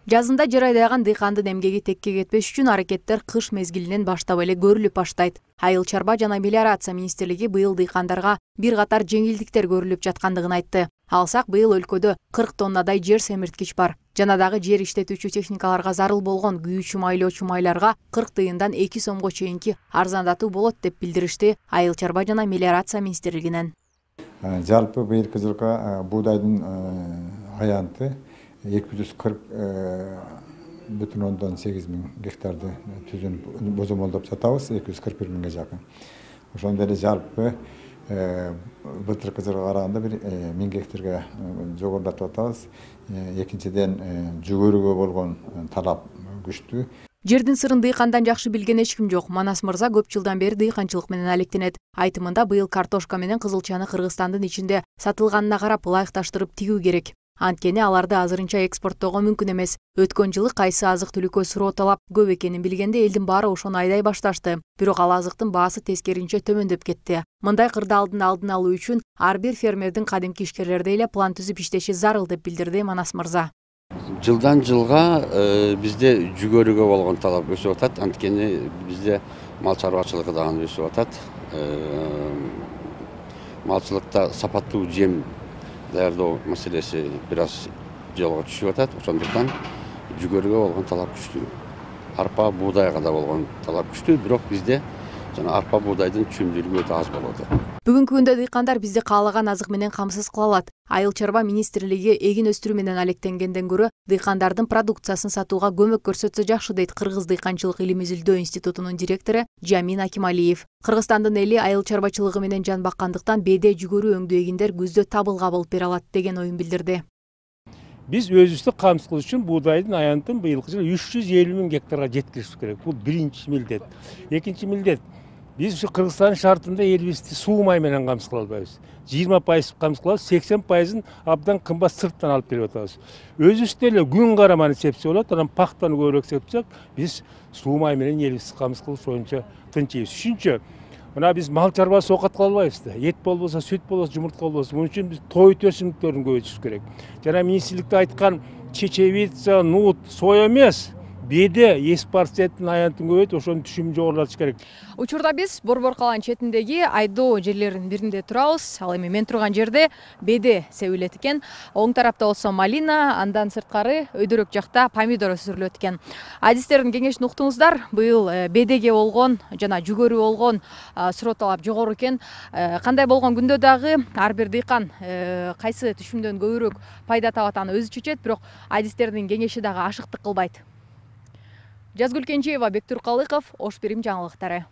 Жазында жер айдаган дыйкандын эмгеги текке кетпеш үчүн аракеттер кыш мезгилинен баштап эле көрүлүп баштайт. Айыл чарба жана мелиорация министрлиги быйыл дыйкандарга бир катар жеңилдиктер көрүлүп жаткандыгын айтты. Алсак, быйыл өлкөдө 40 тоннадай жер семирткич бар. Жана дагы жер иштетүүчү техникаларга зарыл болгон күйүүчү майлоочу майларга 40 тыйындан 2 сомго чейинки арзандатуу болот деп билдиришти Айыл чарба жана мелиорация министрлигинен. Жалпы быйылкы жылга буудайдын аянты 240,8 миң гектарды түзүн бозомолдоп сатабыз, 241 миңге жакын. Ошондой эле жалпы былтыркы жылга караганда бир 1000 гектарга жогорулатып атабыз. Экинчиден жүгөрүгө болгон талап күчтүү. Жердин сырын дыйкандан жакшы билген эч ким жок. Манас мырза көп жылдан бери дыйканчылык менен алектенет. Айтымында быйыл картошка менен кызылчаны Кыргызстандын ичинде сатылганына карап ылайыкташтырып тигүү керек. Анткени аларды азырынча экспорттоого мүмкүн эмес. Өткөн жылы кайсы азык-түлүккө суроо талап көп экенин билгенде элдин баары ошону айдай башташты. Бирок ал азыктын баасы тескеринче төмөндөп кетти. Мындай кырдаалдын алдын алуу үчүн ар бир фермердин кадимки ишкерлердей эле план түзүп иштеши зарыл деп билдирди Манас мырза. Жылдан жылга бизде жүгөрүгө болгон талап өсүп атат. Анткени бизде мал чарбачылыгы дагы өсүп атат. Малчылыкта сапаттуу жем даярдоо маселеси бир аз жолго түшүп атат. Ошондуктан жүгөрүгө болгон талап күчтүү. Арпа, буудайга да болгон талап күчтүү, бирок бизде жана арпа, буудайдын чүмдүүлүгү өтө аз болот. Бүгүнкү күндө дыйкандар бизди каалаган азык менен камсыз кыла алат. Айыл чарба министрлиги эгин өстүрүү менен алектенгенден көрө дыйкандардын продукциясын сатууга көмөк көрсөтсө жакшы дейт Кыргыз дыйканчылык илим изилдөө институтунун директору Жамин Акималиев. Кыргызстандын эли айыл чарбачылыгы менен жан баккандыктан беде жүгөрү өңдүү эгиндер күздө табылга болуп бере алат деген оюн билдирди. Биз өзүбүздү камсыз кылыш үчүн буудайдын аянтын быйылкы жылы 350 миң гектарга жеткиришибиз керек. Бул биринчи милдет. Экинчи милдет. Биз ушу Кыргызстандын шартында элибизди суу май менен камсыз кыла албайбыз. 20% камсыз кылабыз, 80%ын абдан кымбат сырттан алып келип атабыз. Өзүбүз деле күн караманы сепсе болот, анан пахтаны көбүрөөк сепсек, биз суу май менен элибизди камсыз кылып оюнча тынчыйбыз. Үчүнчү, мына биз мал чарбасы оокат кыла албайбыз да. Эт болбосо, сүт болбосо, жумуртка болбосо. Муну үчүн биз той өсүмдүктөрүн көбөйтүшүбүз керек. Жана министрликте айткан чечевица, нут, соя эмес, беде эспарцеттин аянтын көбөйтүп, ошонун түшүмүн жогорулатыш керек. Учурда биз Борбор калан четиндеги айдоо жерлеринин биринде турабыз. Ал эми мен турган жерде беде себилет экен. Оң тарапта болсо малина, андан сырткары өйдөрөк жакта помидор өсүрүлөт экен. Адистердин кеңешин уктуңуздар. Быйыл бедеге болгон жана жүгөрү болгон суроо талап жогору экен. Кандай болгон күндө дагы ар бир дыйкан кайсы түшүмдөн көбүрөөк пайда табат аны өзү чечет, бирок адистердин кеңеши дагы ашыктык кылбайт. Жазгүл Кенжеева, Бектур Калыков, Ош Бирим жаңылыктары.